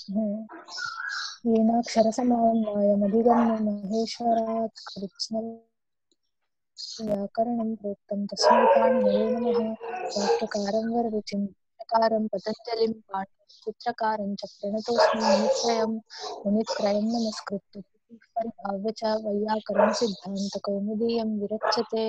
येनाक्षरसमाम्नायमधिगम्य महेश्वरात् कृत्स्नव्याकरणं प्रोक्तं तस्मै पाणिनये नमः। वाक्यकारं वररुचिं चित्रकारं पतञ्जलिं पाणिचित्रकारं च प्रणतोऽस्मि मुनित्रयं नमस्कृत्य परिभाव्य च वैयाकरणसिद्धान्तकौमुदीयं विरच्यते।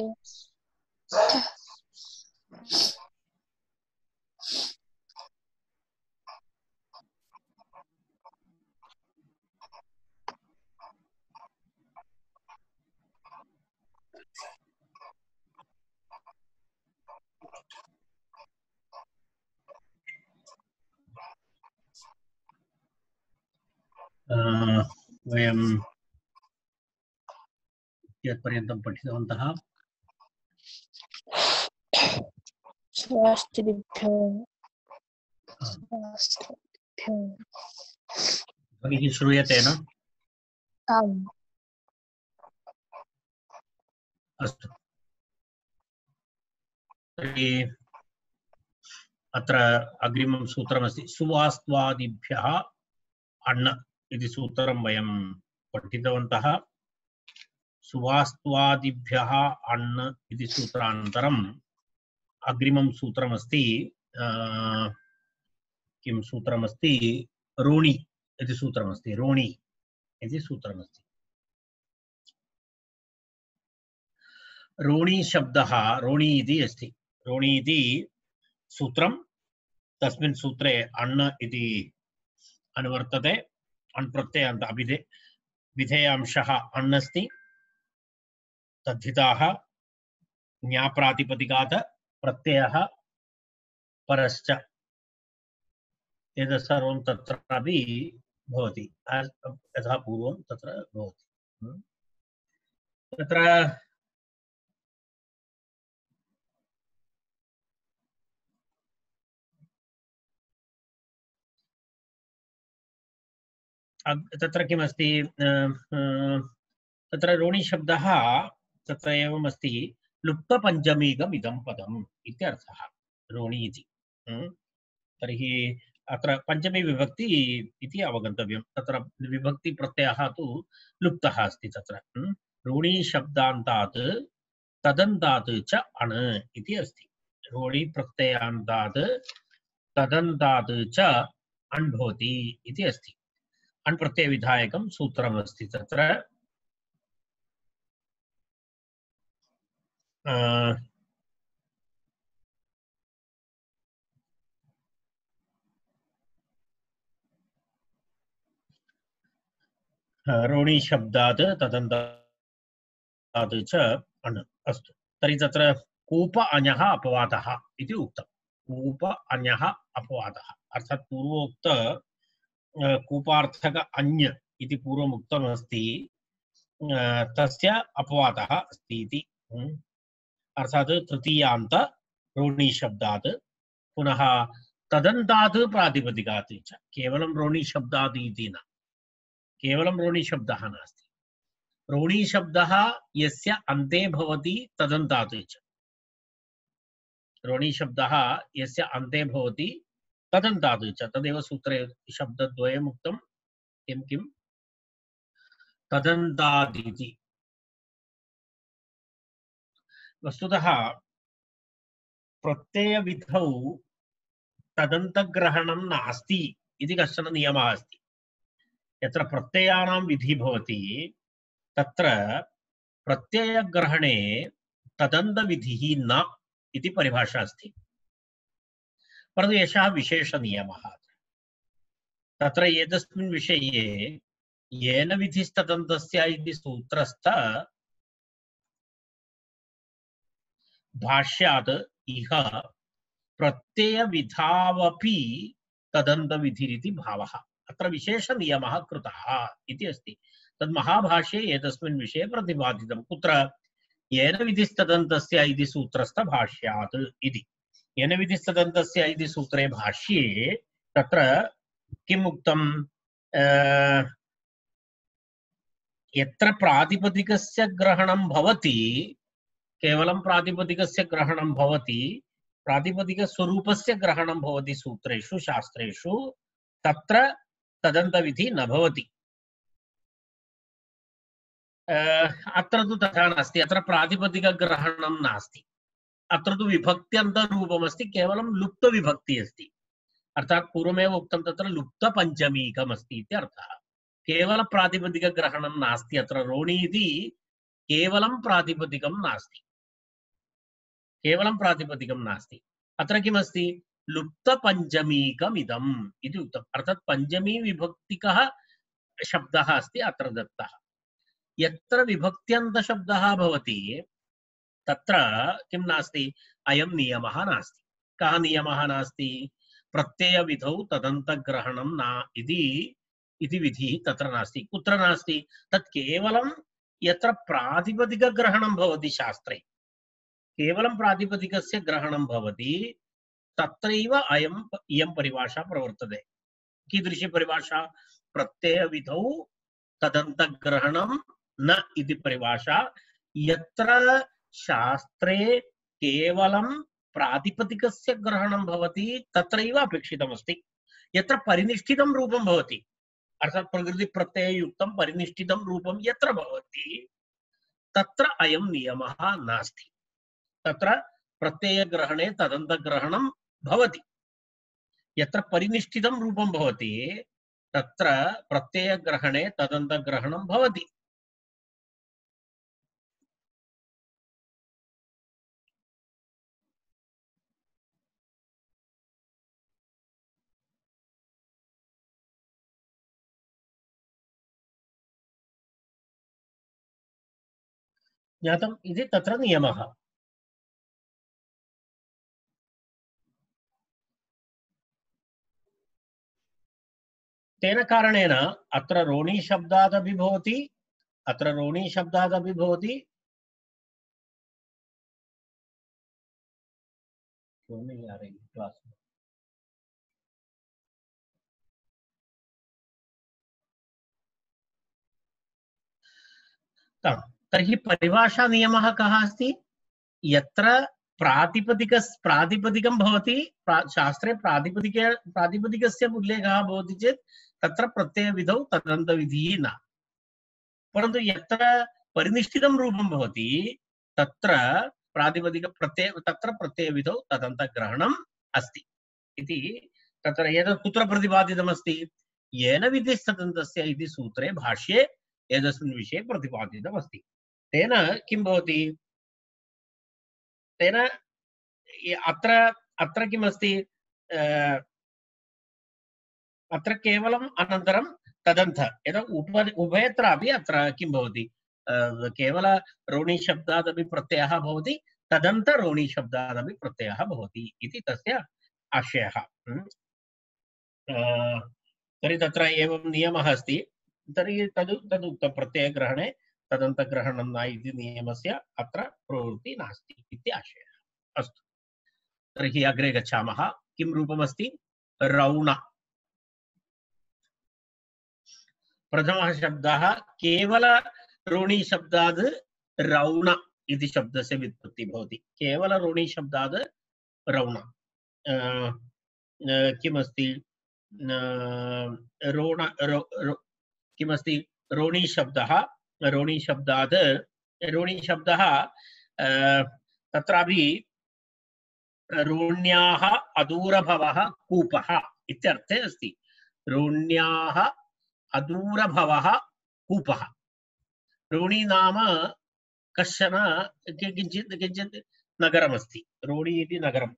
वयं यत्पर्यन्तं पठितवन्तः स्वास्तिभ्यो ध्वनिः श्रूयते न? आम्। अस्तु, तर्हि अत्र अग्रिमं सूत्रमस्ति सुवास्त्वादिभ्यः अण्ण इति सूत्रं वयं पठितवन्तः। सुवास्त्वादिभ्यः अण्ण इति सूत्रानन्तरम् अग्रिमं सूत्रमस्ति किं सूत्रमस्ति रोणि इति सूत्रमस्ति। रोणि इति सूत्रमस्ति। रोणि शब्दः रोणि इति अस्ति। रोणि इति सूत्रं, तस्मिन् सूत्रे अण्ण इति अनुवर्तते। अण् प्रत्ययान्त विधेयांशः अण् अस्ति। तद्धिताः ज्ञाप्रातिपदिकात् प्रत्ययः परश्च एतत् सर्वं तत्रापि भवति, यथा पूर्वं तत्र भवति। तत्र तत्र किमस्ति, तत्र रोणि शब्दः तत्र एवमस्ति, लुप्तपञ्चमीकम् इदं पदम् इत्यर्थः रोणि इति। तर्हि अत्र पञ्चमी विभक्ति इति अवगन्तव्यं। तत्र विभक्तिप्रत्ययः तु लुप्तः अस्ति। तत्र रोणि शब्दान्तात् तदन्तात् च अण् इति अस्ति। रोणि प्रत्ययान्तात् तदन्तात् च अण् भवति इति अस्ति। अण् प्रत्ययविधायकं सूत्रमस्ति। तत्र रोणि शब्दात् तदन्तात् च अण्। अस्तु, तर्हि तत्र कूप अञः अपवादः इति उक्तं। कूप अञः अपवादः अर्थात् पूर्वोक्त कूपार्थक अन्य इति पूर्वम् उक्तमस्ति, तस्य अपवादः अस्ति इति। अर्थात् तृतीयान्त रोणि शब्दात् पुनः तदन्तात् प्रातिपदिकात् च। केवलं रोणि शब्दात् इति न, केवलं रोणि शब्दः नास्ति। रोणि शब्दः यस्य अन्ते भवति तदन्तात् च। रोणि शब्दः यस्य अन्ते भवति तदन्तात् च, तदेव सूत्रे शब्दद्वयम् उक्तं। किं किं तदन्तात् इति। वस्तुतः प्रत्ययविधौ तदन्तग्रहणं नास्ति इति कश्चन नियमः अस्ति। यत्र प्रत्ययानां विधिः भवति तत्र प्रत्ययग्रहणे तदन्तविधिः न इति परिभाषा अस्ति। परन्तु एषः विशेषनियमः। तत्र एतस्मिन् विषये येन विधिस्तदन्तस्य इति सूत्रस्थ भाष्यात् इह प्रत्ययविधावपि तदन्तविधिरिति भावः। अत्र विशेषनियमः कृतः इति अस्ति। तद् महाभाष्ये एतस्मिन् विषये प्रतिपादितं। कुत्र? येन विधिस्तदन्तस्य इति सूत्रस्थ भाष्यात् इति। येन विधिस्तदन्तस्य इति सूत्रे भाष्ये तत्र किम् उक्तं? यत्र प्रातिपदिकस्य ग्रहणं भवति, केवलं प्रातिपदिकस्य ग्रहणं भवति, प्रातिपदिकस्वरूपस्य ग्रहणं भवति सूत्रेषु शास्त्रेषु, तत्र तदन्तविधि न भवति। अत्र तु तथा नास्ति, अत्र प्रातिपदिकग्रहणं नास्ति, अत्र तु विभक्त्यन्तरूपमस्ति, केवलं लुप्तविभक्ति अस्ति। अर्थात् पूर्वमेव उक्तं तत्र लुप्तपञ्चमीकम् अस्ति इति अर्थः। केवल प्रातिपदिकग्रहणं नास्ति, अत्र रोणि इति केवलं प्रातिपदिकं नास्ति, केवलं प्रातिपदिकं नास्ति। अत्र किमस्ति? लुप्तपञ्चमीकमिदम् इति उक्तम्। अर्थात् पञ्चमी विभक्तिकः शब्दः अस्ति अत्र दत्तः। यत्र विभक्त्यन्तशब्दः भवति तत्र किं नास्ति? अयं नियमः नास्ति। कः नियमः नास्ति? प्रत्ययविधौ तदन्तग्रहणं न इति विधिः तत्र नास्ति। कुत्र नास्ति? तत् केवलं यत्र प्रातिपदिकग्रहणं भवति शास्त्रे, केवलं प्रातिपदिकस्य ग्रहणं भवति, तत्रैव इयं परिभाषा प्रवर्तते। कीदृशी परिभाषा? प्रत्ययविधौ तदन्तग्रहणं न इति परिभाषा। यत्र शास्त्रे केवलं प्रातिपदिकस्य ग्रहणं भवति तत्रैव अपेक्षितमस्ति। यत्र परिनिष्ठितं रूपं भवति, अर्थात् प्रकृतिप्रत्यययुक्तं परिनिष्ठितं रूपं यत्र भवति तत्र अयं नियमः नास्ति। तत्र प्रत्ययग्रहणे तदन्तग्रहणं भवति। यत्र परिनिष्ठितं रूपं भवति तत्र प्रत्ययग्रहणे तदन्तग्रहणं भवति। ज्ञातम् इति तत्र नियमः। तेन कारणेन अत्र रोणी शब्दादपि भवति, अत्र रोणी शब्दादपि भवति। क्यों नहीं आ रही क्लास में? तर्हि परिभाषा नियमः कः अस्ति? यत्र प्रातिपदिकं भवति, शास्त्रे प्रातिपदिकस्य उल्लेखः भवति चेत् तत्र प्रत्ययविधौ तदन्तविधिः न। परन्तु यत्र परिनिष्ठितं रूपं भवति तत्र प्रत्ययविधौ तदन्तग्रहणम् अस्ति इति तत्र एतत् कुत्र प्रतिपादितमस्ति? येन विधिस्तदन्तस्य इति सूत्रे भाष्ये एतस्मिन् विषये प्रतिपादितमस्ति। तेन किं भवति? तेन अत्र किमस्ति? अत्र केवलम् अनन्तरं तदन्त यदा उभयत्रापि अत्र किं भवति? केवल रोणी शब्दादपि प्रत्ययः भवति, तदन्त रोणी शब्दादपि प्रत्ययः भवति इति तस्य आशयः। तर्हि तत्र एवं नियमः अस्ति। तर्हि तदुक्तं प्रत्ययग्रहणे तदन्तग्रहणं न इति नियमस्य अत्र प्रवृत्तिः नास्ति इति आशयः। अस्तु, तर्हि अग्रे गच्छामः। किं रूपमस्ति? रौण। प्रथमः शब्दः केवल रोणी शब्दात् रौण इति शब्दस्य व्युत्पत्तिः भवति। केवल रोणी शब्दात् रौण किमस्ति? किमस्ति? रोणी शब्दः तत्रापि रोण्याः अदूरभवः कूपः इत्यर्थे अस्ति। रोण्याः अदूरभवः कूपः। रोणी नाम कश्चन किञ्चित् नगरमस्ति। रोणी इति नगरं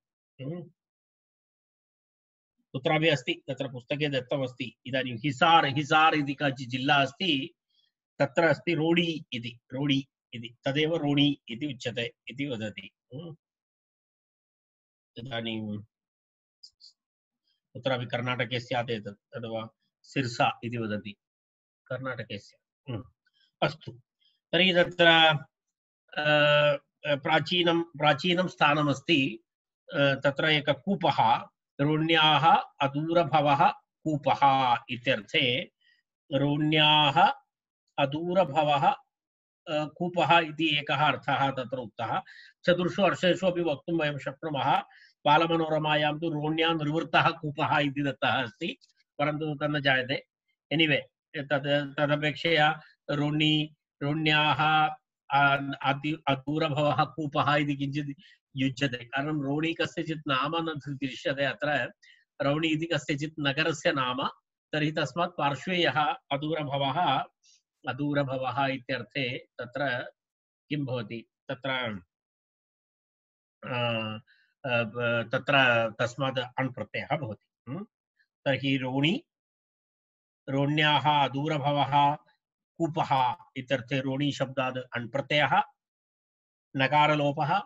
कुत्रापि अस्ति, तत्र पुस्तके दत्तमस्ति। इदानीं हिसार इति काचित् जिल्ला अस्ति, तत्र अस्ति रोणी इति तदेव रोणी इति उच्यते इति वदति। इदानीं कुत्रापि कर्णाटके स्यात् एतत्, अथवा सिर्सा इति वदति कर्णाटके स्यात्। अस्तु, तर्हि तत्र प्राचीनं स्थानमस्ति। तत्र एकः कूपः, रोण्याः अदूरभवः कूपः इत्यर्थे रोण्याः अदूरभवः कूपः इति एकः अर्थः तत्र उक्तः। चतुर्षु वर्षेषु अपि वक्तुं वयं शक्नुमः। बालमनोरमायां तु रोण्यां निवृत्तः कूपः इति दत्तः अस्ति, परन्तु तन्न जायते। एनिवे तदपेक्षया रोणी रोण्याः अदूरभवः कूपः इति किञ्चित् युज्यते कारणं रोणी कस्यचित् नाम न दृश्यते अत्र रौणी इति कस्यचित् नगरस्य नाम तर्हि तस्मात् पार्श्वे यः अदूरभवः इत्यर्थे तत्र किं भवति तत्र तत्र तस्मात् अण् प्रत्ययः भवति तर्हि रोणी रोण्याः अदूरभवः कूपः इत्यर्थे रोणी शब्दात् अण् प्रत्ययः नकारलोपः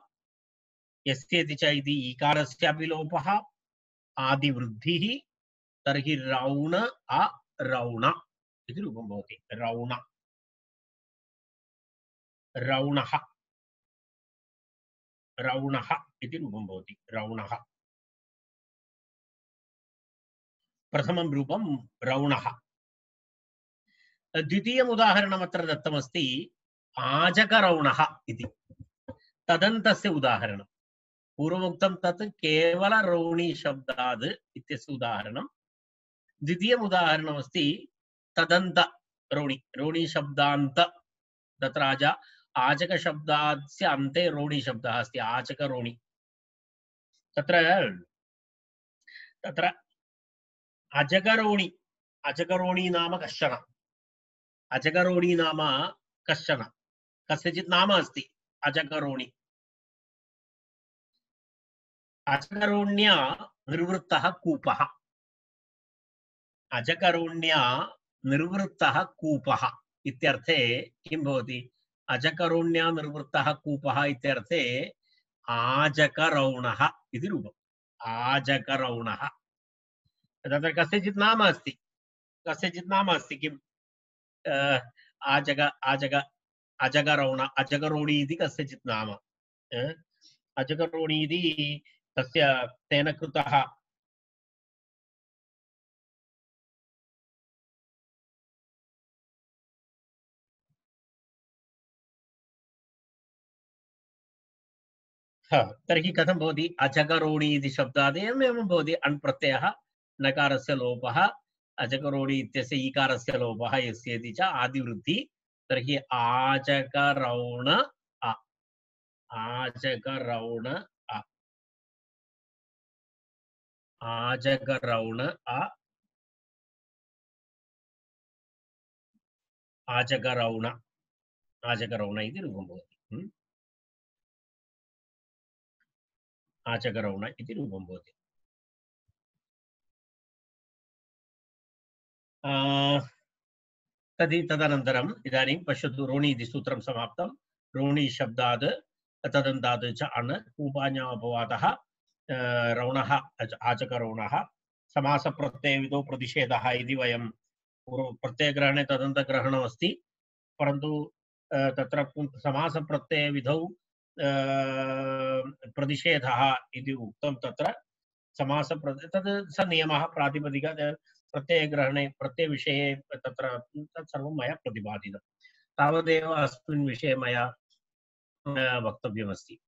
यस्येति च इति ईकारस्यापि लोपः आदिवृद्धिः तर्हि रौण अरौण इति रूपं भवति रौण रौणः रौणः इति रूपं भवति रौणः प्रथमं रूपं रौणः द्वितीयम् उदाहरणम् अत्र दत्तमस्ति आजकरौणः इति तदन्तस्य उदाहरणं पूर्वमुक्तं तत् केवल रौणी शब्दात् इत्यस्य उदाहरणं द्वितीयम् उदाहरणमस्ति तदन्त रोणी शब्दान्त तत्र आजक शब्दास्य अन्ते रोणी शब्दः अस्ति आजकरोणी तत्र तत्र अजकरोणी नाम कश्चन अजकरोणी नाम कश्चन कस्यचित् नाम अस्ति अजकरोणी अजकरोण्या निर्वृत्तः कूपः अजकरोण्या निर्वृत्तः कूपः इत्यर्थे किं भवति अजकरोण्या निर्वृत्तः कूपः इत्यर्थे आजकरौणः इति रूपम् आजकरौणः तत्र कस्यचित् नाम अस्ति किम् अजकरौण अजकरोणी इति कस्यचित् नाम अजकरोणी इति तस्य तेन कृतः तर्हि कथं भवति अजकरोणी इति शब्दात् एवमेवं भवति अण् प्रत्ययः नकारस्य लोपः अजकरोणी इत्यस्य ईकारस्य लोपः यस्येति च आदिवृद्धि तर्हि आजकरौण आजकरौण आजकरौण आजकरौण आजकरौण इति रूपं भवति आजकरौण इति रूपं भवति तदनन्तरम् इदानीं पश्यतु रोणी इति सूत्रं समाप्तं रोणी शब्दात् तदन्तात् च अण् कूपान्यामपवादः रौणः आचकरौणः समासप्रत्ययविधौ प्रतिषेधः इति वयं प्रत्ययग्रहणे तदन्तग्रहणमस्ति परन्तु तत्र समासप्रत्ययविधौ प्रतिषेधः इति उक्तं तत्र तद् स नियमः प्रातिपदिक प्रत्ययग्रहणे प्रत्ययविषये तत्र तत्सर्वं मया प्रतिपादितं तावदेव अस्मिन् विषये मया वक्तव्यमस्ति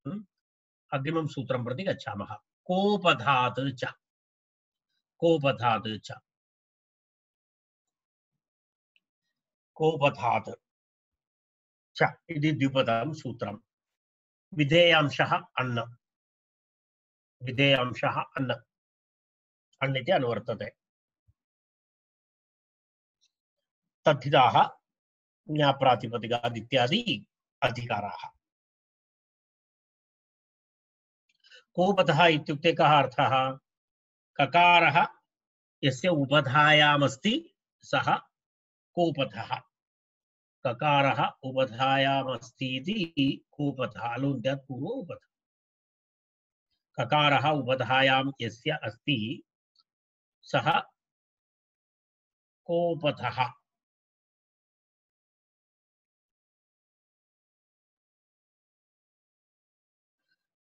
अग्रिमं सूत्रं प्रति गच्छामः कोपधात् च कोपधात् च कोपधात् च इति द्विपदं सूत्रं विधेयांशः अण् विधेयांशः अण् अण् इति अनुवर्तते तद्धिताः ज्ञाप्रातिपदिकात् इत्यादि अधिकाराः कोपधः इत्युक्ते कः अर्थः ककारः यस्य उपधायामस्ति सः कोपधः ककारः उपधायामस्ति इति कोपधः लोन्त्यात् पूर्वम् उपधः ककारः उपधायां यस्य अस्ति सः कोपधः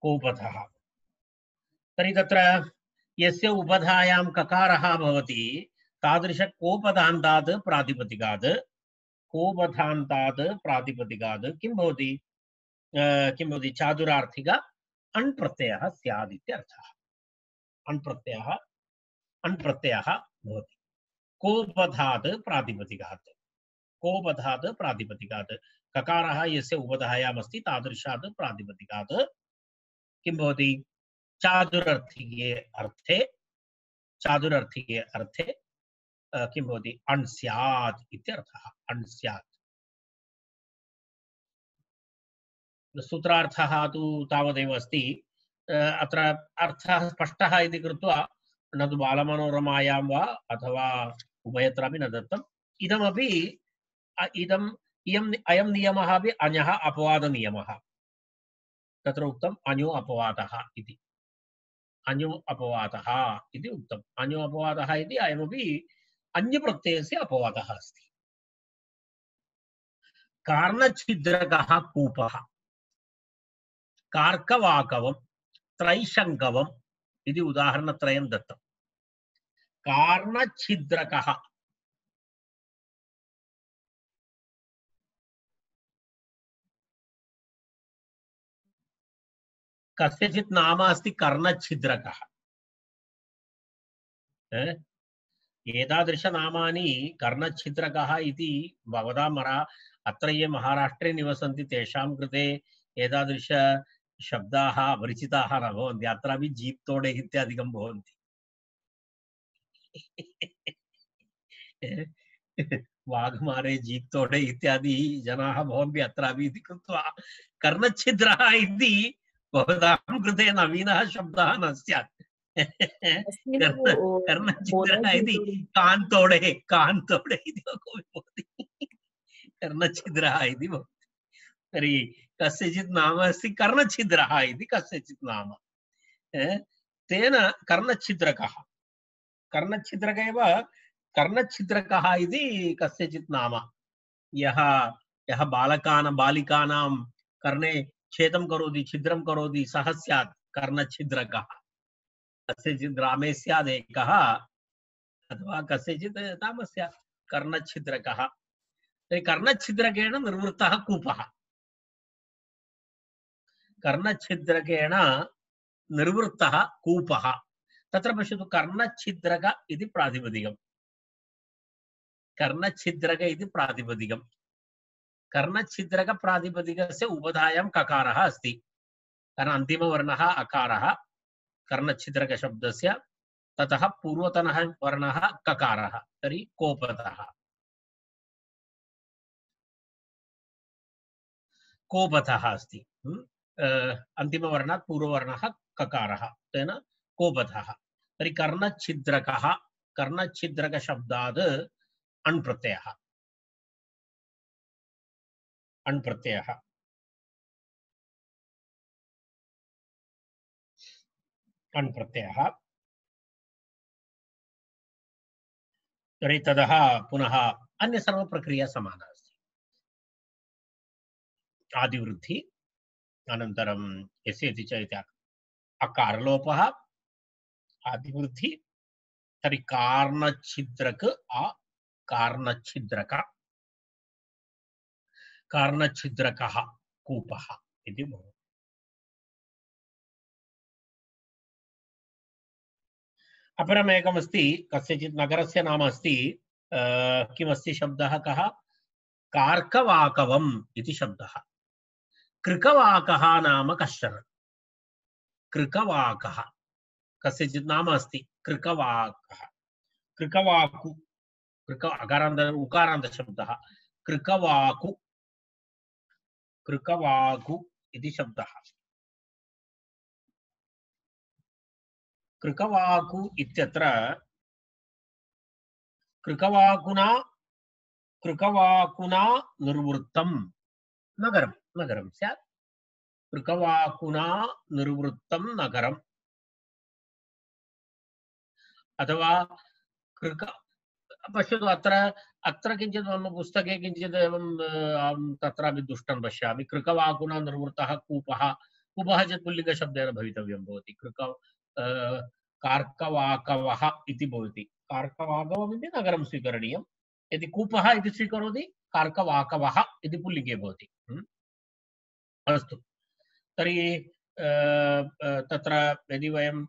कोपधः तर्हि तत्र यस्य उपधायां ककारः भवति तादृश कोपदान्तात् प्रातिपदिकात् किं भवति चातुरार्थिक अण् प्रत्ययः स्यात् इत्यर्थः अण् प्रत्ययः भवति कोपधात् प्रातिपदिकात् कोपधात् प्रातिपदिकात् ककारः यस्य उपधायाम् अस्ति तादृशात् प्रातिपदिकात् किं भवति चातुरर्थिके अर्थे किं भवति अण् स्यात् इत्यर्थः अण् स्यात् सूत्रार्थः तु तावदेव अस्ति अत्र अर्थः स्पष्टः इति कृत्वा न तु बालमनोरमायां वा अथवा उभयत्रापि न दत्तम् इदमपि अयं नियमः अपि अञः अपवादनियमः तत्र उक्तम् अञो अपवादः इति अञो अपवादः इति उक्तम् अञो अपवादः इति अयमपि अन्यप्रत्ययस्य अपवादः अस्ति कार्णच्छिद्रकः कूपः कार्कवाकवं त्रैशङ्कवम् इति उदाहरणत्रयं दत्तम् कार्णच्छिद्रकः कस्यचित् नाम अस्ति कर्णच्छिद्रकः एतादृशनामानि कर्णच्छिद्रकः इति भवतां अत्र ये महाराष्ट्रे निवसन्ति तेषां कृते एतादृश शब्दाः अपरिचिताः न भवन्ति अत्रापि जीप् तोडे इत्यादिकं भवन्ति वाघमारे जीप् तोडे इत्यादि जनाः भवन्ति अत्रापि इति कृत्वा कर्णच्छिद्रः इति भवतां कृते नवीनः शब्दः न स्यात् कर्णच्छिद्रः इति कान्तोडे इति भवति कर्णच्छिद्रः इति भवति तर्हि कस्यचित् नाम अस्ति कर्णच्छिद्रः इति कस्यचित् नाम तेन कर्णच्छिद्रकः कर्णच्छिद्रक एव कर्णच्छिद्रकः इति कस्यचित् नाम यः बालिकानां कर्णे छेदं करोति छिद्रं करोति सः स्यात् कर्णच्छिद्रकः कस्यचित् ग्रामे स्यात् एकः अथवा कस्यचित् नाम स्यात् कर्णच्छिद्रकः कर्णच्छिद्रकेण निर्वृत्तः कूपः कर्णच्छिद्रकेण निर्वृत्तः कूपः तत्र पश्यतु कर्णच्छिद्रक इति प्रातिपदिकम् कर्णच्छिद्रक इति प्रातिपदिकम् कर्णच्छिद्रक प्रातिपदिकस्य उपधायां ककारः अस्ति कारण अन्तिमवर्णः अकारः कर्णच्छिद्रक शब्दस्य ततः पूर्वतनः वर्णः ककारः तर्हि कोपतः कोपतः अस्ति अन्तिमवर्णात् पूर्ववर्णः ककारः तेन कोपतः तर्हि कर्णच्छिद्रकः कर्णच्छिद्रक शब्दात् अण् प्रत्ययः अण् प्रत्ययः अण् प्रत्ययः तर्हि ततः पुनः अन्य सर्वप्रक्रिया समाना अस्ति आदिवृद्धि अनन्तरं यस्येति च इति अकारलोपः आदिवृद्धि तर्हि कार्णच्छिद्रक कार्णच्छिद्रक कार्णच्छिद्रकः कूपः इति भवति अपरमेकमस्ति कस्यचित् नगरस्य नाम अस्ति किमस्ति शब्दः कः कार्कवाकवम् इति शब्दः कृकवाकः नाम कश्चन कृकवाकः कस्यचित् नाम अस्ति कृकवाकः कृकवाकु अकारान्त उकारान्त शब्दः कृकवाकु कृकवाकु इति शब्दः कृकवाकु इत्यत्र कृकवाकुना निर्वृत्तं नगरं स्यात् कृकवाकुना निर्वृत्तं नगरम् अथवा कृक पश्यतु अत्र किञ्चित् मम पुस्तके किञ्चित् एवं तत्रापि दुष्टं पश्यामि कृकवाकुना निर्वृत्तः कूपः चेत् पुल्लिङ्गशब्देन भवितव्यं भवति कार्कवाकवः इति भवति कार्कवाकवम् इति नगरं स्वीकरणीयं यदि कूपः इति स्वीकरोति कार्कवाकवः इति पुल्लिङ्गे भवति अस्तु तर्हि तत्र यदि वयं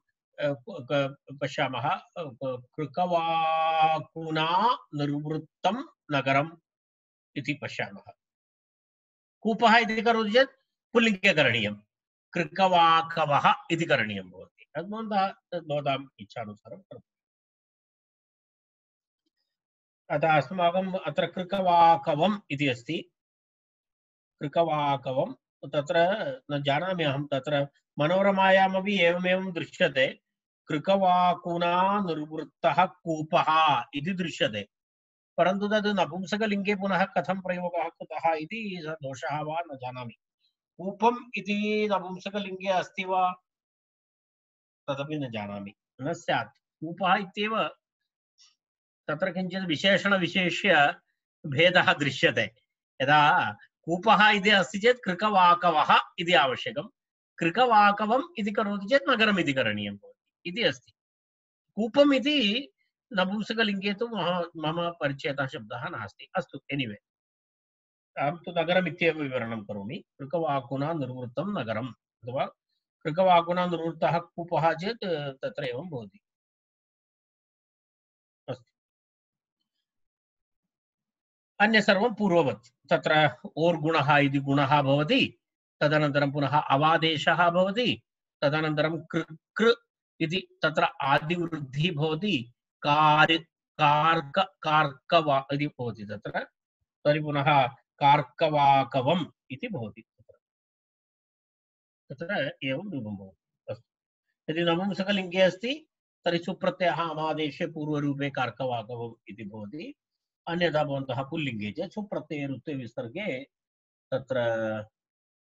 पश्यामः कृकवाकुना निर्वृत्तं नगरम् इति पश्यामः। कूपः इति करोति चेत् पुल्लिङ्गे करणीयं, कृकवाकवः इति करणीयं भवति। तद् भवताम् इच्छानुसारं करोतु। अतः अस्माकम् अत्र कृकवाकवम् इति अस्ति। कृकवाकवं तत्र न जानामि अहं, तत्र मनोरमायामपि एवमेवं दृश्यते, कृकवाकुना निर्वृत्तः कूपः इति दृश्यते, परन्तु तद् नपुंसकलिङ्गे पुनः कथं प्रयोगः कृतः इति दोषः वा न जानामि। कूपम् इति नपुंसकलिङ्गे अस्ति वा तदपि न जानामि, न स्यात्। कूपः इत्येव तत्र किञ्चित् विशेषणविशेष्य भेदः दृश्यते। यदा कूपः इति अस्ति चेत् कृकवाकवः इति आवश्यकं, कृकवाकवम् इति करोति चेत् नगरम् इति करणीयं भवति इति अस्ति। कूपम् इति नपुंसकलिङ्गे तु मम परिचयतः शब्दः नास्ति। अस्तु, एनिवे अहं तु नगरम् इत्येव विवरणं करोमि। कृकवाकुना निर्वृत्तं नगरम् अथवा कृकवाकुना निर्वृत्तः कूपः चेत् तत्र एवं भवति। अस्तु, अन्य सर्वं पूर्ववत्। तत्र ओर्गुणः इति गुणः भवति, तदनन्तरं पुनः अवादेशः भवति, तदनन्तरं कृ कृ इति तत्र आदिवृद्धिः भवति, कार् कार्क कार्कवा इति भवति तत्र, तर्हि पुनः कार्कवाकवम् इति भवति। तत्र एवं रूपं भवति। अस्तु, यदि नपुंसकलिङ्गे अस्ति तर्हि सुप्रत्ययः अमादेशे पूर्वरूपे कार्कवाकवम् इति भवति। अन्यथा भवन्तः पुल्लिङ्गे चेत् सुप्रत्यये रुत्वे विसर्गे तत्र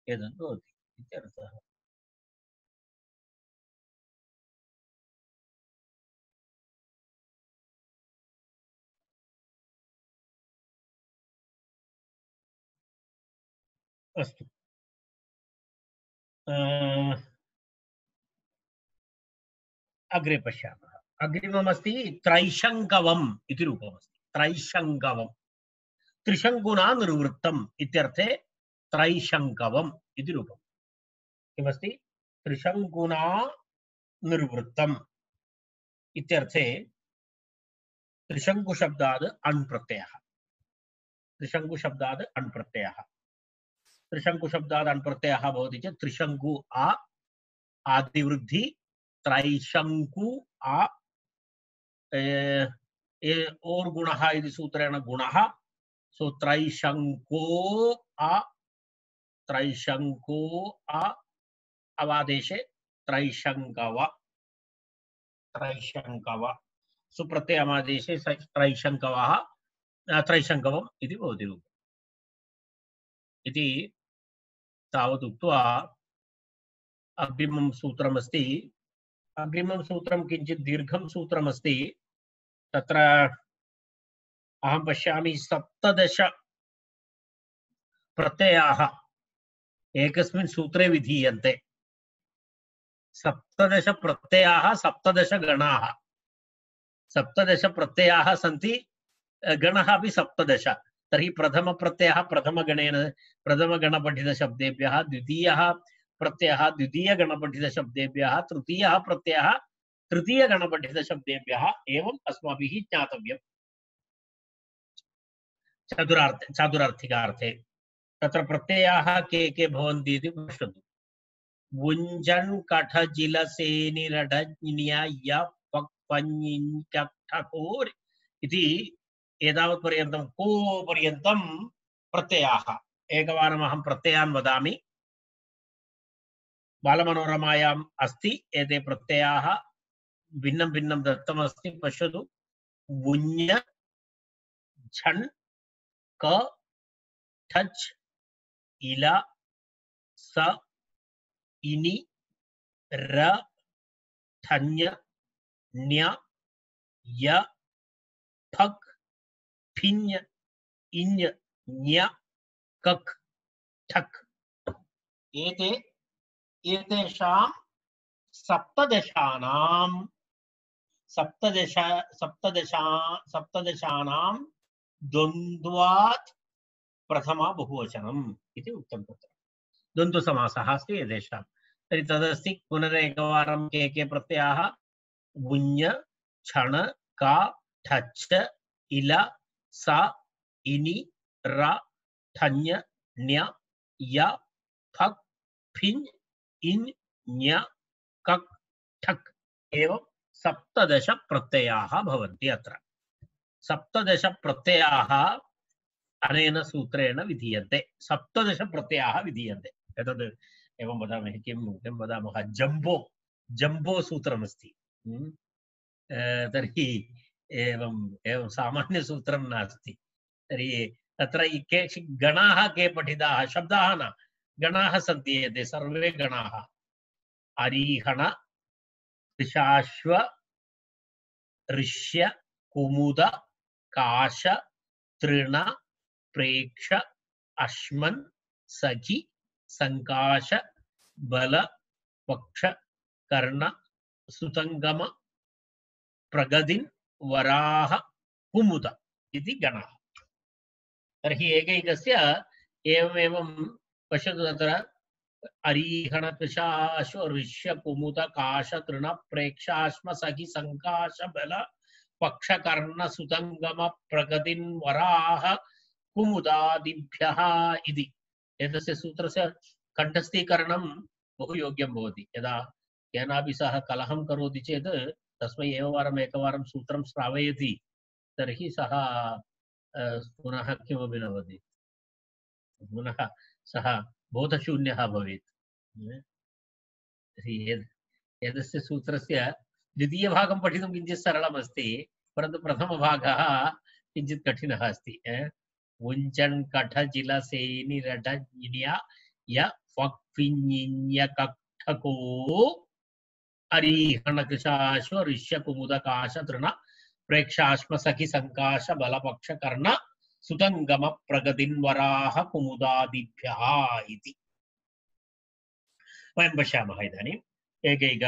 एतद् भवति इत्यर्थः। अस्तु, अग्रे पश्यामः। अग्रिममस्ति त्रैशङ्कवम् इति रूपमस्ति। त्रैशङ्कवम् त्रिशङ्कुना निर्वृत्तम् इत्यर्थे त्रैशङ्कवम् इति रूपम्। किमस्ति? त्रिशङ्कुना निर्वृत्तम् इत्यर्थे त्रिशङ्कुशब्दाद् अण् प्रत्ययः। त्रिशङ्कुशब्दाद् अण् प्रत्ययः। त्रिशङ्कुशब्दाद् अण् प्रत्ययः भवति चेत् त्रिशङ्कु आ आदिवृद्धि, त्रैशङ्कु आ ओर् गुणः इति सूत्रेण गुणः, सो त्रैशङ्को आ, त्रैशङ्को आ अवादेशे त्रैशङ्कव, त्रैशङ्कव सुप्रत्ययमादेशे त्रैशङ्कवः त्रैशङ्कवम् इति भवति रूपम्। इति तावत् उक्त्वा अग्रिमं सूत्रमस्ति। अग्रिमं सूत्रं किञ्चित् दीर्घं सूत्रमस्ति। तत्र अहं पश्यामि 17 प्रत्ययाः एकस्मिन् सूत्रे विधीयन्ते। 17 प्रत्ययाः 17 गणाः। 17 प्रत्ययाः सन्ति, गणः अपि 17। तर्हि प्रथमप्रत्ययः प्रथमगणेन प्रथमगणपठितशब्देभ्यः, द्वितीयः प्रत्ययः द्वितीयगणपठितशब्देभ्यः, तृतीयः प्रत्ययः तृतीयगणपठितशब्देभ्यः एवम् अस्माभिः ज्ञातव्यम्। चातुरार्थिकार्थे तत्र प्रत्ययाः के भवन्ति इति पश्यतु। वुञ्जन् कठजिलसेनिरडज्ञ्य पक्पञ्ञिञ्चठकोर् इति एतावत् पर्यन्तं को पर्यन्तं प्रत्ययाः। एकवारम् अहं प्रत्ययान् वदामि। बालमनोरमायाम् अस्ति एते प्रत्ययाः, भिन्नं भिन्नं दत्तमस्ति, पश्यतु। वुञ्ज, झन्, क, ठच्, इल, स, इनि, र, ठञ्य, ण्य, य, फक्, फिञ्य, इञ्, ञ, कक्, ठक्। एतेषां सप्तदशानां द्वन्द्वात् प्रथमा बहुवचनम् इति उक्तं। तत्र द्वन्द्वसमासः अस्ति एतेषां। तर्हि तदस्ति। पुनरेकवारं के प्रत्ययाः वुञ् छण का ठच्च इल सा इनि र ठञ् ण्य य फक् फिञ् इन् ञ कक् ठक् एवं 17 प्रत्ययाः भवन्ति। अत्र 17 प्रत्ययाः अनेन सूत्रेण विधीयन्ते। 17 प्रत्ययाः विधीयन्ते। एतद् एवं वदामः, किं वदामः, जम्बो सूत्रमस्ति। तर्हि एवं सामान्यसूत्रं नास्ति। तर्हि तत्र केचित् गणाः के पठिताः, शब्दाः न, गणाः सन्ति। एते सर्वे गणाः अरीहण कृशाश्व ऋष्य कुमुद काश तृण प्रेक्ष अश्मन् सखि संकाश बल पक्ष कर्ण सुतंगम प्रगदिन् वराह कुमुद इति गणः। तर्हि एकैकस्य एवमेवं पश्यतु। तत्र अरीहण कृशाश्व ऋष्य कुमुद काश तृण प्रेक्षाश्म सखि संकाश बल पक्ष कर्ण सुतंगम प्रगदिन् वराह कुमुदादिभ्यः इति। एतस्य सूत्रस्य कण्ठस्थीकरणं बहु योग्यं भवति। यदा केनापि सह कलहं करोति चेत् तस्मै एकवारं सूत्रं श्रावयति, तर्हि सः पुनः किमपि न वदति, पुनः सः बोधशून्यः भवेत्। एतस्य सूत्रस्य द्वितीयभागं पठितुं किञ्चित् सरलमस्ति, परन्तु प्रथमभागः किञ्चित् कठिनः अस्ति। उञ्चन् कठ जिल सेनि रट ञ्या य फक् फिञ् कक्ठको अरीहण कृशाश्व ऋष्य कुमुद काश तृण प्रेक्षाश्म सखि संकाश बल पक्ष कर्ण सुतंगम प्रगदिन् वराह कुमुदादिभ्यः इति वयं पश्यामः। इदानीम् एकैक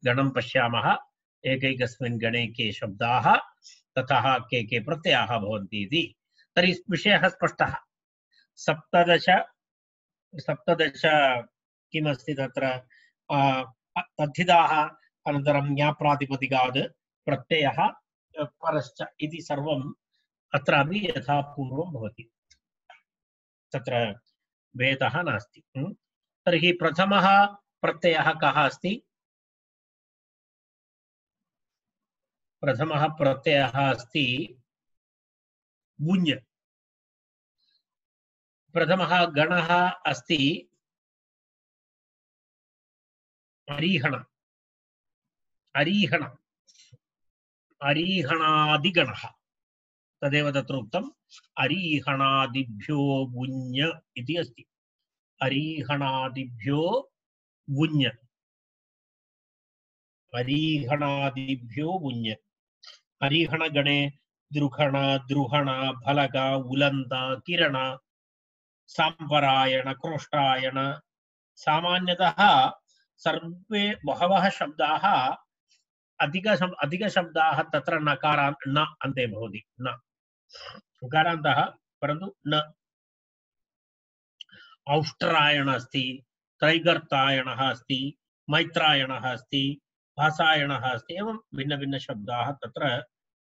गणं पश्यामः। एकैकस्मिन् गणे के शब्दाः ततः के प्रत्ययाः भवन्ति इति। तर्हि विषयः स्पष्टः। 17 किमस्ति तत्र तद्धिताः, अनन्तरं ज्ञाप्रातिपदिकात् प्रत्ययः परश्च इति सर्वम् अत्रापि यथा पूर्वं भवति, तत्र भेदः नास्ति। तर्हि प्रथमः प्रत्ययः कः अस्ति? प्रथमः प्रत्ययः अस्ति वुञ्। प्रथमः गणः अस्ति अरीहण। अरीहण अरीहणादिगणः, तदेव तत्र उक्तम्। अरीहणादिभ्यो वुञ् इति अस्ति। अरीहणादिभ्यो वुञ्, अरीहणादिभ्यो वुञ्। अरीहणगणे द्रुहण द्रुहण फलक उलन्द किरण साम्परायण क्रोष्टायण। सामान्यतः सर्वे बहवः शब्दाः अधिकशब्दाः तत्र नकारान्त न अन्ते भवति, न उकारान्तः परन्तु न। औष्ट्रायण अस्ति, त्रैगर्तायणः अस्ति, मैत्रायणः अस्ति, भासायणः अस्ति, एवं भिन्नभिन्नशब्दाः तत्र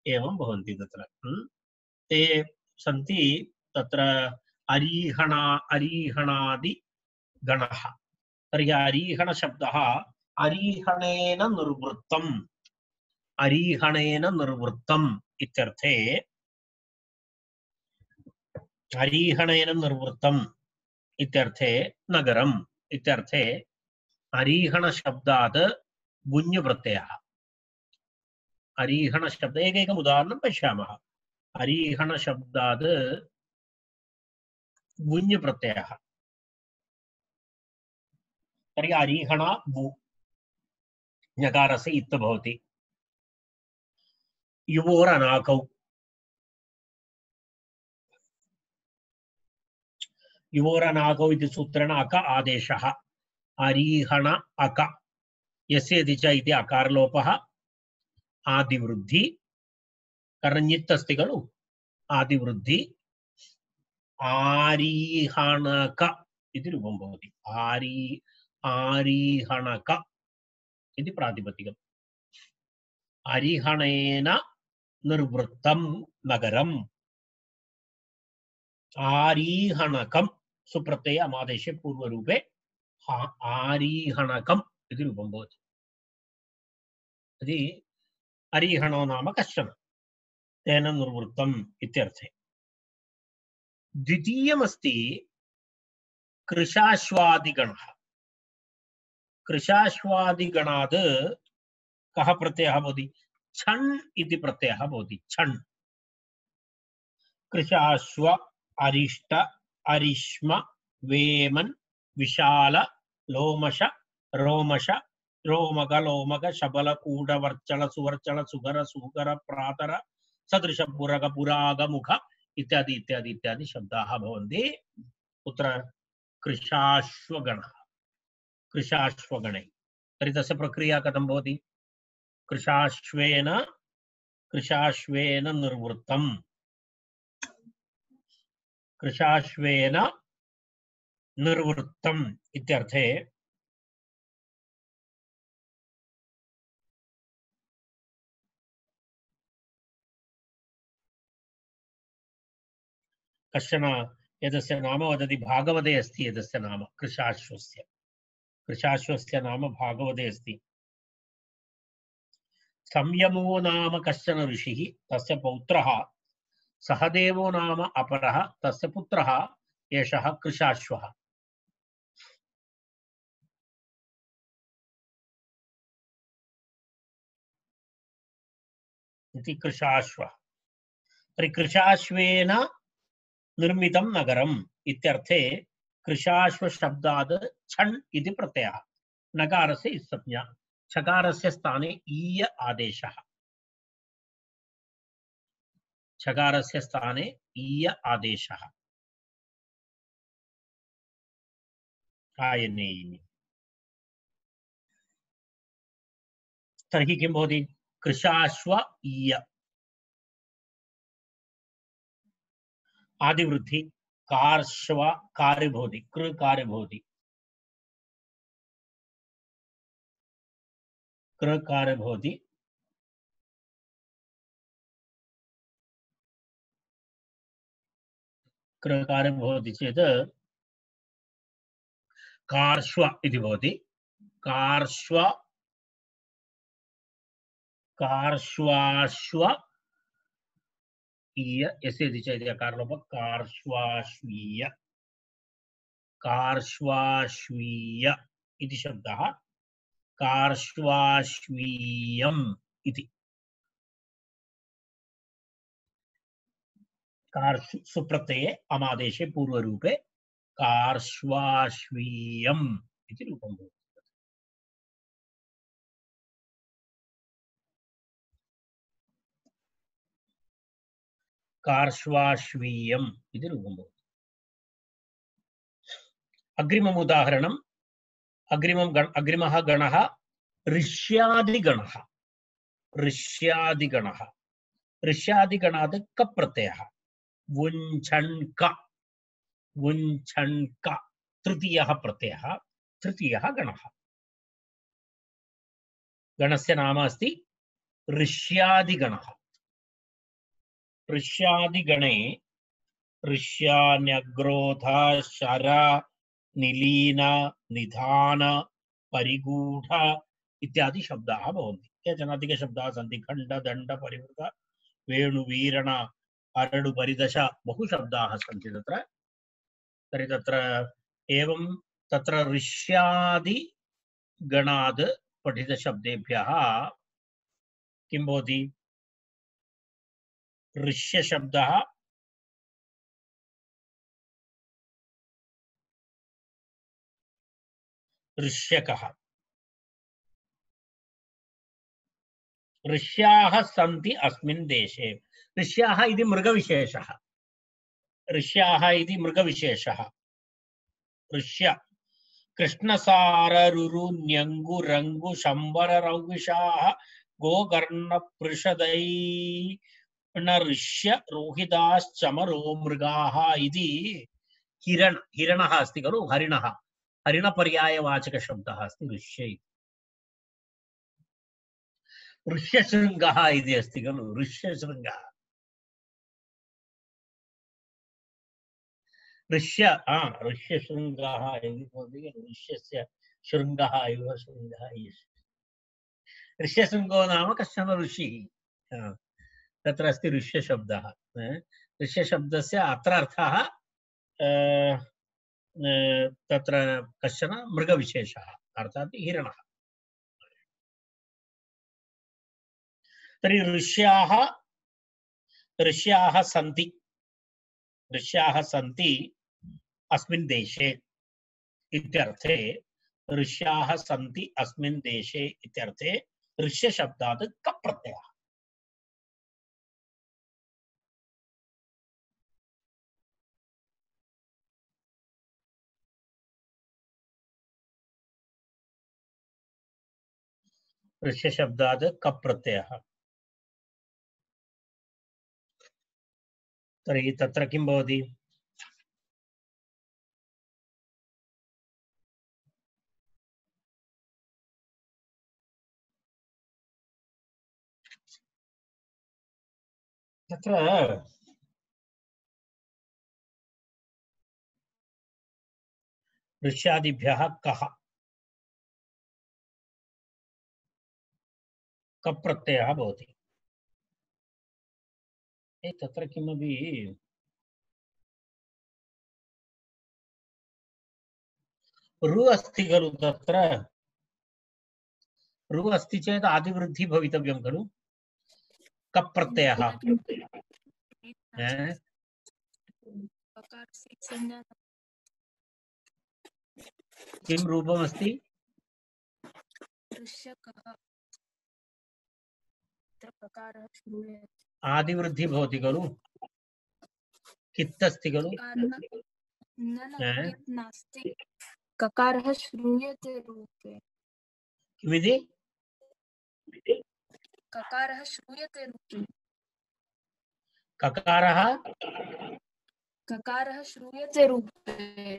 एवं भवन्ति। तत्र ते सन्ति तत्र अरीहणादि गणः। तर्हि अरीहणशब्दः अरीहणेन निर्वृत्तम्, अरीहणेन निर्वृत्तम् इत्यर्थे, अरीहणेन निर्वृत्तम् इत्यर्थे नगरम् इत्यर्थे अरीहणशब्दात् वुञ् प्रत्ययः। अरीहणशब्द एकैकम् उदाहरणं पश्यामः। अरीहणशब्दात् वुञ् प्रत्ययः। तर्हि अरीहण वु, ञकारस्य इत् भवति। युवोरनाकौ, युवोरनाकौ इति सूत्रेण अक आदेशः। अरीहण अक, यस्य च इति अकारलोपः, आदिवृद्धि, कर्णित् अस्ति खलु, आदिवृद्धि, आरीहणक इति रूपं भवति। आरीहणक इति प्रातिपदिकम्। अरिहणेन निर्वृत्तं नगरम् आरीहणकं सुप्रत्यय अमादेशे पूर्वरूपे आरीहणकम् इति रूपं भवति यदि अरिहणो नाम कश्चन तेन निर्वृत्तम् इत्यर्थे द्वितीयमस्ति कृशाश्वादिगणः कृशाश्वादिगणात् कः प्रत्ययः भवति छण् इति प्रत्ययः भवति छण् कृशाश्व अरिष्ट अरिष्म वेमन् विशाल लोमश रोमश रोमग लोमग शबल कूट वर्चल सुवर्चल सुगर सुगर प्रातर सदृश पुरग पुराग मुख इत्यादि इत्यादि इत्यादि शब्दाः भवन्ति कुत्र कृशाश्वगणः कृशाश्वगणे तर्हि तस्य प्रक्रिया कथं भवति कृशाश्वेन निर्वृत्तम् कृशाश्वेन निर्वृत्तम् इत्यर्थे कश्चन एतस्य नाम वदति भागवते अस्ति एतस्य नाम कृशाश्वस्य नाम भागवते अस्ति संयमो नाम कश्चन ऋषिः तस्य पौत्रः सहदेवो नाम अपरः तस्य पुत्रः एषः कृशाश्वः इति कृशाश्वः तर्हि कृशाश्वेन निर्मितं नगरम् इत्यर्थे कृशाश्व शब्दात् छण् इति प्रत्ययः नकारस्य संज्ञा छकारस्य स्थाने ईय आदेशः छकारस्य स्थाने ईय आदेशः आयनेयिनि तर्हि किं भवति कृशाश्व ईय आदिवृद्धि कार्श्व कार्य भवति कृ कार्य भवति कृ कार्य भवति कृ कार्य भवति चेत् कार्श्व इति भवति कार्श्व कार्श्वाश्व ईय यस्य इति चेत् यकारलोप कार्श्वाश्वीय कार्श्वाश्वीय इति शब्दः कार्श्वाश्वीयम् इति कार्श्व सुप्रत्यये अमादेशे पूर्वरूपे कार्श्वाश्वीयम् इति रूपं भवति कार्श्वाश्वीयम् इति रूपं भवति अग्रिमम् उदाहरणम् अग्रिमः गणः ऋष्यादिगणः ऋष्यादिगणः ऋष्यादिगणात् क प्रत्ययः वुञ्छण्क वुञ्छण्क तृतीयः प्रत्ययः तृतीयः गणः गणस्य नाम अस्ति ऋष्यादिगणः ऋष्यादिगणे ऋष्यान्यग्रोध शर निलीन निधान परिगूढ इत्यादि शब्दाः भवन्ति केचन अधिकशब्दाः सन्ति खण्ड दण्ड परिवृत वेणुवीरण अरडु परिदश बहु शब्दाः सन्ति तत्र तर्हि तत्र एवं तत्र ऋष्यादि गणाद् पठितशब्देभ्यः किं भवति ऋष्यशब्दः ऋष्यकः ऋष्याः सन्ति अस्मिन् देशे ऋष्याः इति मृगविशेषः ऋष्याः इति मृगविशेषः ऋष्य कृष्णसाररुरु न्यङ्गु रङ्गु शम्बररौविषाः गोकर्णपृषदैर्णऋष्य रोहिताश्चमरो मृगाः इति हिरणः अस्ति खलु हरिणः हरिणपर्यायवाचकशब्दः अस्ति ऋष्य ऋष्यशृङ्गः इति अस्ति खलु ऋष्यशृङ्गः ऋष्यशृङ्गः इति भवति ऋष्यस्य शृङ्गः इव शृङ्गः ऋष्यशृङ्गो नाम कश्चन ऋषिः तत्र अस्ति ऋष्यशब्दः ऋष्यशब्दस्य अत्र अर्थः तत्र कश्चन मृगविशेषः अर्थात् हिरणः तर्हि ऋष्याः सन्ति अस्मिन् देशे इत्यर्थे ऋष्याः सन्ति अस्मिन् देशे इत्यर्थे ऋष्यशब्दात् कप् प्रत्ययः ऋष्यशब्दात् कप् प्रत्ययः तर्हि तत्र किं भवति तत्र ऋष्यादिभ्यः कः कप् प्रत्ययः भवति तत्र किमपि रु अस्ति खलु तत्र रु अस्ति चेत् आदिवृद्धिः भवितव्यं खलु कप् प्रत्ययः किं रूपमस्ति आदिवृद्धिः भवति खलु कित् अस्ति खलु ककारः श्रूयते रूपे किमिति ककारः श्रूयते रूपे ककारः श्रूयते रूपे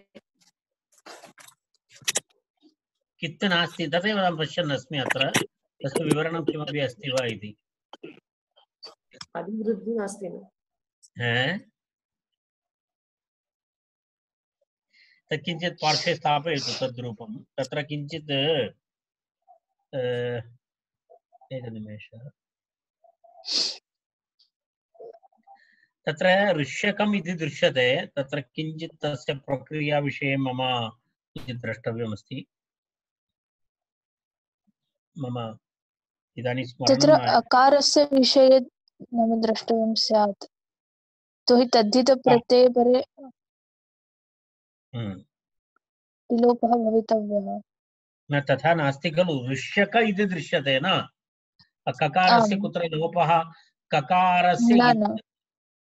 कित् नास्ति तदेव अहं पश्यन् अस्मि अत्र तस्य विवरणं किमपि अस्ति वा इति आदिवृद्धिः नास्ति तत् किञ्चित् पार्श्वे स्थापयतु तद्रूपं तत्र किञ्चित् एकनिमेषः तत्र ऋष्यकम् इति दृश्यते तत्र किञ्चित् तस्य प्रक्रियाविषये मम किञ्चित् द्रष्टव्यमस्ति मम इदानीं तत्र स्मरणं अकारस्य विषये मम द्रष्टव्यं स्यात् तो हि तद्धितप्रत्यये परे विलोपः भवितव्यः न तथा नास्ति खलु ऋष्यक इति दृश्यते न ककारस्य कुत्र लोपः ककारस्य